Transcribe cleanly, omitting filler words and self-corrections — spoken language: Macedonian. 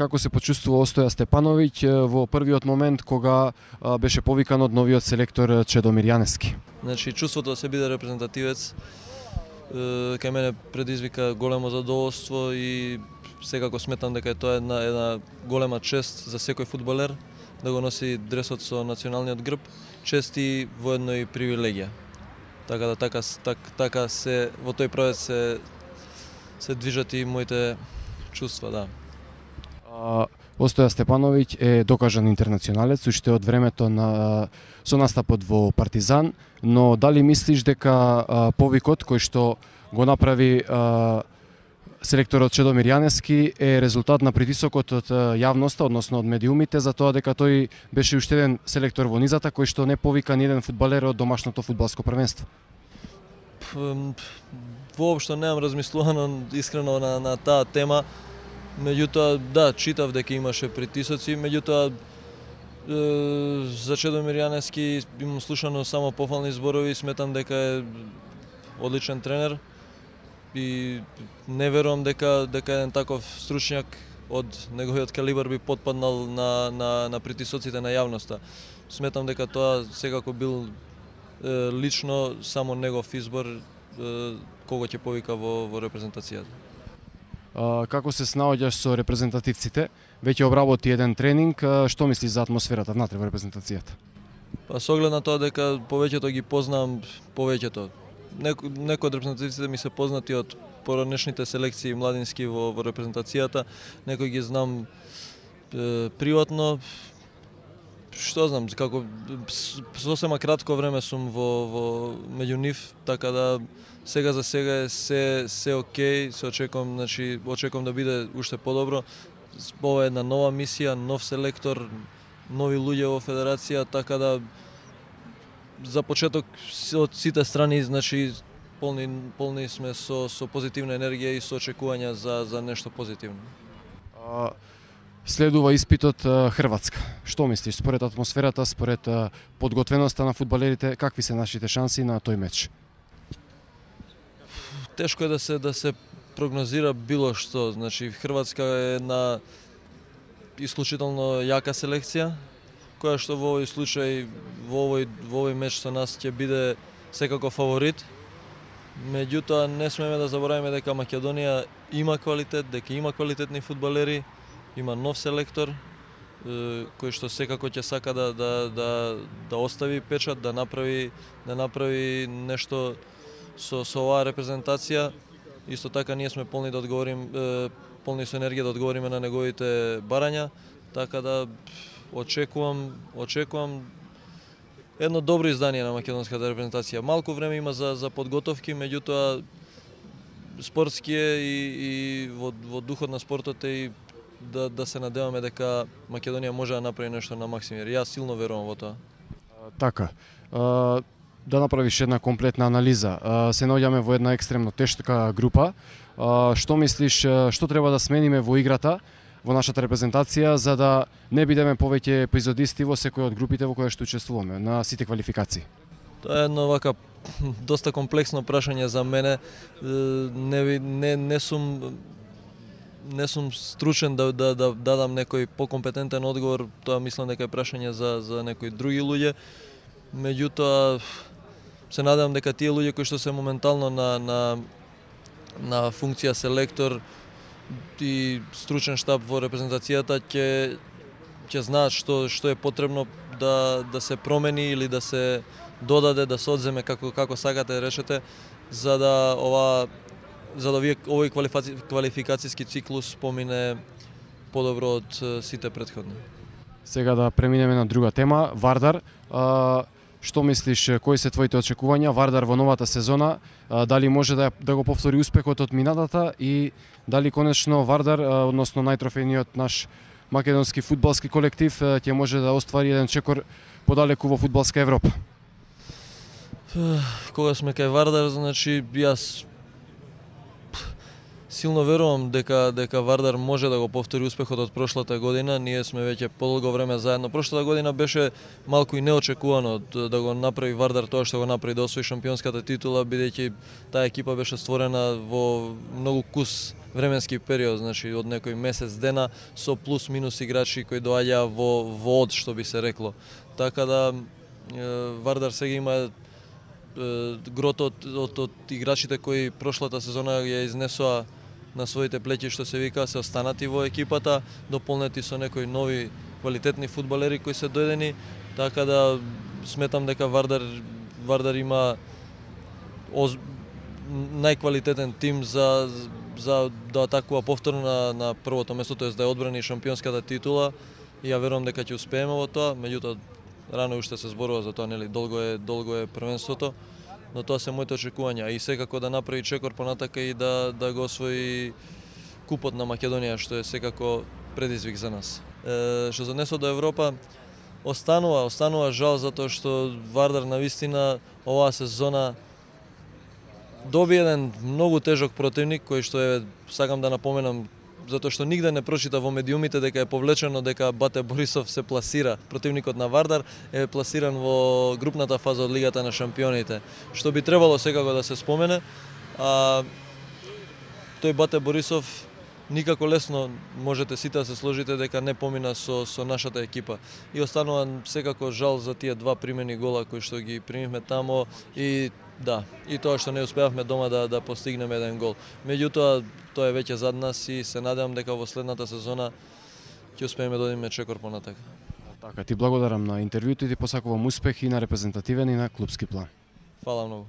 Како се почувствува Остоја Степановиќ во првиот момент кога беше повикан од новиот селектор Чедомир Јаневски? Значи, чувството да се биде репрезентативец кај мене предизвика големо задоволство и секако сметам дека тоа е една голема чест за секој фудбалер да го носи дресот со националниот грб, чест и воедно и привилегија. Така да така се во тој правец се движат и моите чувства, да. Остоја Степановиќ е докажан интернационалец уште од времето со настапот во Партизан, но дали мислиш дека повикот кој што го направи селекторот Чедомир Јаневски е резултат на притисокот од јавноста, односно од медиумите, за тоа дека тој беше уште еден селектор во низата кој што не повика ни еден фудбалер од домашното фудбалско првенство? Воопшто немам размислувано искрено на таа тема. Меѓутоа, да, читав дека имаше притисоци, меѓутоа за Чедомир Јаневски имам слушано само пофални зборови, сметам дека е одличен тренер и не верувам дека еден таков стручњак од неговиот калибар би потпаднал на притисоците на јавноста. Сметам дека тоа секако бил лично само негов избор кого ќе повика во репрезентацијата. Како се снаоѓаш со репрезентативците? Веќе обработи еден тренинг, што мислиш за атмосферата внатре во репрезентацијата? Па со оглед на тоа дека повеќето ги познам, повеќето. Некои од репрезентативците ми се познати од поранешните селекции младински во репрезентацијата, некои ги знам приватно. Што знам, како сосема кратко време сум во меѓу нив, така да сега за сега е се окей, се очекувам, значи очекувам да биде уште подобро. Ова е една нова мисија, нов селектор, нови луѓе во федерација, така да за почеток од сите страни, значи полни сме со позитивна енергија и со очекувања за нешто позитивно. Следува испитот Хрватска. Што мислиш според атмосферата, според подготвеноста на фудбалерите, какви се нашите шанси на тој меч? Тешко е да се прогнозира било што. Значи Хрватска е една исклучително јака селекција, која што во овој случај, во овој меч со нас ќе биде секако фаворит. Меѓутоа не смееме да забораваме дека Македонија има квалитет, дека има квалитетни фудбалери, има нов селектор кој што секако ќе сака да остави печат, да направи нешто со оваа репрезентација. Исто така ние сме полни со енергија да одговориме на неговите барања, така да очекувам едно добро издание на македонската репрезентација. Малку време има за подготовки, меѓутоа спортски е и во духот на спортот е и да се надеваме дека Македонија може да направи нешто на максимум. Јас силно верувам во тоа. Така. Да направиш една комплетна анализа. Се наоѓаме во една екстремно тешка група. Што мислиш, што треба да смениме во играта, во нашата репрезентација, за да не бидеме повеќе епизодисти во секој од групите во кои што учествуваме на сите квалификации? Тоа е едно вака доста комплексно прашање за мене. Не сум стручен да дадам некој покомпетентен одговор. Тоа мислам дека е прашање за некои други луѓе. Меѓутоа се надевам дека тие луѓе кои што се моментално на функција селектор и стручен штаб во репрезентацијата ќе знаат што е потребно да се промени или да се додаде, да се одземе како сакате да речете, за да овој квалификацијски циклус помине подобро од сите претходни. Сега да преминеме на друга тема, Вардар. Што мислиш, кои се твоите очекувања? Вардар во новата сезона, дали може да го повтори успехот од минатата и дали конечно Вардар, односно најтрофејниот наш македонски фудбалски колектив, ќе може да оствари еден чекор подалеку во фудбалска Европа? Кога сме кај Вардар, значи јас силно верувам дека Вардар може да го повтори успехот од прошлата година. Ние сме веќе подолго време заедно. Прошлата година беше малку и неочекувано да го направи Вардар тоа што го направи, да освои шампионската титула, бидејќи таа екипа беше створена во многу кус временски период, значи од некој месец дена со плюс минус играчи кои доаѓаа во од, што би се рекло. Така да Вардар сега има грото од играчите кои прошлата сезона ја изнесоа на своите плеќи, што се вика, се останати во екипата, дополнети со некои нови квалитетни фудбалери кои се дојдени, така да сметам дека Вардар има најквалитетен тим за да атакува повторно на првото место, тоест да ја одбрани шампионската титула, и ја верувам дека ќе успееме во тоа, меѓутоа рано уште се зборува за тоа, нели, долго е првенството, но тоа се моите очекувања и секако да направи чекор понатака и да го освои купот на Македонија, што е секако предизвик за нас. Што се однесува до Европа, останува жал затоа што Вардар навистина оваа сезона доби еден многу тежок противник, кој што е, сакам да напоменам, затоа што нигде не прочита во медиумите дека е повлечено дека Бате Борисов се пласира. Противникот на Вардар е пласиран во групната фаза од Лигата на шампионите, што би требало секако да се спомене. Тој Бате Борисов никако лесно можете сите да се сложите дека не помина со нашата екипа. И останува секако жал за тие два примени гола кои што ги примивме тамо и да, и тоа што не успеавме дома да постигнеме еден гол. Меѓутоа, тоа е веќе зад нас и се надевам дека во следната сезона ќе успееме да одиме чекор понатака. Така, ти благодарам на интервјуто и ти посакувам успех и на репрезентативен и на клупски план. Фала многу.